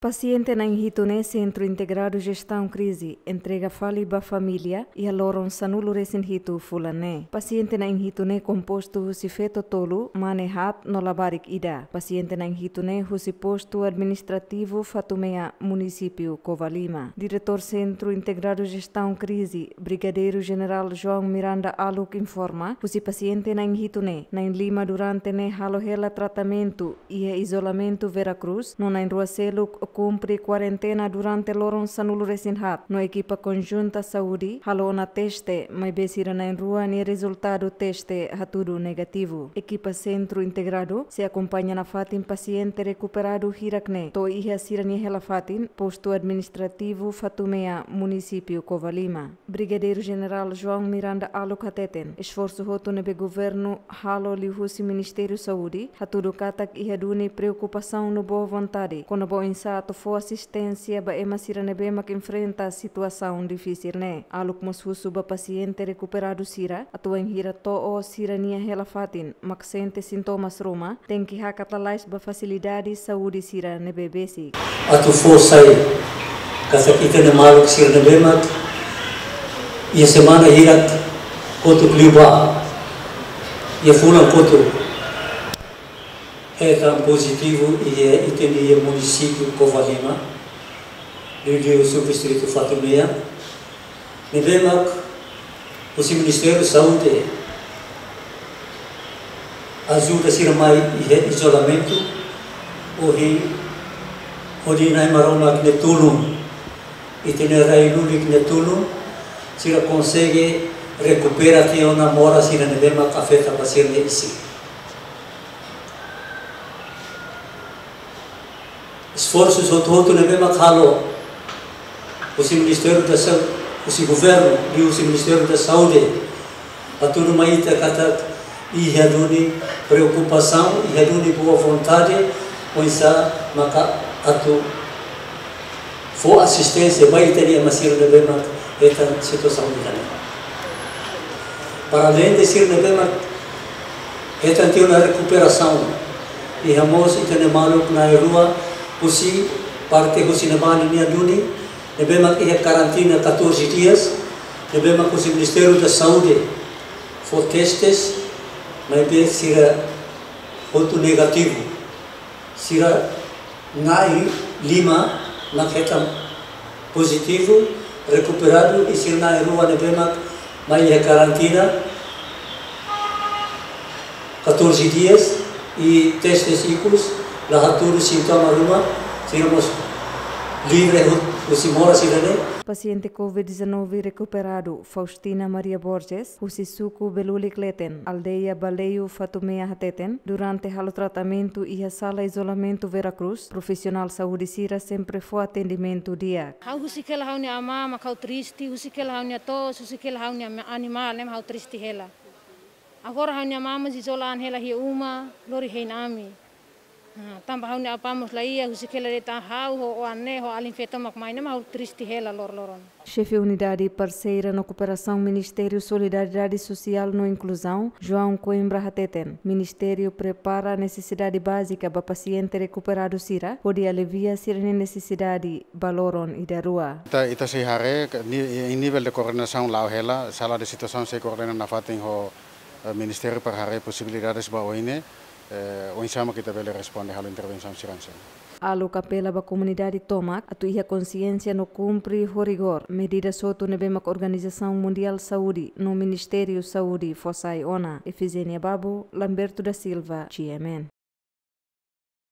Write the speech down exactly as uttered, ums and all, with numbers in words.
Pasiente na'in hitu ne'e Sentru Integradu Jestaun Krize entrega fali ba família iha loron sanulu resin hitu fulan ne'e. Pasiente na'in hitu ne'e kompostu husi feto tolu, mane haat no labarik ida. Pasiente na'in hitu ne'e husi Postu Administrativu Fatumea, Munisípiu Covalima. Diretór Sentru Integradu Jestaun Krize, Brigadeiru Jenerál João Miranda Aluk informa, husi pasiente na'in hitu ne'e, na'in lima durante ne'e halo hela tratamentu iha izolamentu Vera Cruz, no na'in rua seluk kumpre kuarentena durante loron sanulu resin haat, no ekipa konjunta saúde halo ona teste, maibé sira na'in rua nia rezultadu teste hatudu negativu. Ekipa Sentru Integradu sei akompaña nafatin pasiente rekuperadu hirak ne'e to'o iha sira-nia hela fatin, Postu Administrativu Fatumea, Munisípiu Covalima. Brigadeiru Jenerál João Miranda Aluk hateten, esforsu hotu ne'ebé governu halo liuhusi Ministériu Saúde, hatudu katak iha duni preokupasaun no boa vontade kona-ba oinsá atu fó asisténsia ba ema sira ne'ebé mak enfrenta situasaun difisil ne'e. Aluk mós husu ba pasiente rekuperadu sira atu wainhira to'o sira-nia hela fatin, mak sente sintomas ruma, tenke hakat lalais ba fasilidade saúde sira ne'ebé besik. Atu fó sai katak ita-nia maluk sira ne'ebé mak iha semana hirak kotuk liubá, iha fulan kotuk, hetan pozitivu iha ita-nia Munisípiu Covalima, liuliu Subdistritu Fatumea, ne'ebé mak husi Ministériu Saúde ajuda sira mai iha izolamentu, ohin hodi Na'i Maromak nia tulun, ita-nia rai lulik nia tulun, sira konsege rekupera tiha ona moras sira ne'ebé mak afeta ba sira-nia isin. Esforsu hotu-hotu ne'ebé mak halo husi Ministériu da Sau-, husi governu, liuhusi Ministériu da Saúde, hatudu mai ita katak iha duni preokupasaun, iha duni boa vontade, oinsá maka atu fó asisténsia ba ita-nia ema sira ne'ebé mak hetan situasaun ida-ne'e. Para além de sira ne'ebé mak hetan tiha ona rekuperasaun, iha mós ita-nia maluk na'in rua, husi parte husi ne'ebá ninia duni, ne'ebé mak iha karantina catorze dias, ne'ebé mak husi Ministériu da Saúde fó testes, maibé sira hotu negativu. Sira na'in lima mak hetan pozitivu, rekuperadu, i sira na'in rua ne'ebé mak mai iha karantina catorze dias, i testes ikus la hatudu sintoma ruma, sira mós livre hu-, husi moras sira-ne'e. Pasiente covid dezanove rekuperadu, Faustina Maria Borges, husi suku Belulik Leten, aldeia Baleiu, Fatumea hateten, durante halo tratamentu iha sala izolamentu Vera Cruz, profisionál saúde sira sempre fó atendimentu di'ak. Ha'u husik hela ha'u-nia amá mak ha'u triste, husik hela ha'u-nia to'os, husik hela ha'u-nia ma-, animál ne'e mak ha'u triste hela. Agora ha'u-nia amá mós izola an hela iha uma, lori hein ami. Ah, tanba ha'u-nia apá mós la iha, husik hela de'it ha'u ho oan ne'e, ho alin feto mak mai ne'e mak ha'u triste hela loroloron. Xefe Unidade Parseira no Kooperasaun Ministériu Solidariedade Sosiál no Inkluzaun, João Coimbra hateten, Ministériu prepara nesesidade bázika ba pasiente rekuperadu sira, hodi alivia sira-nia nesesidade ba loron ida rua. Ita, ita sei haree ke ni-, em nível de coordenação la'o hela, sala de situasaun sei koordena nafatin ho, eh, Ministériu para haree posibilidades ba oin ne'e, eh, oinsá mak ita bele responde halo intervensaun sira hanesan ne'e. Aluk apela ba komunidade tomak atu iha konsiénsia no kumpre ho rigór medidas hotu ne'ebé mak Organizasaun Mundiál Saúde no Ministériu Saúde fó sai ona. Efigénia Babo, Lamberto da Silva, G M N.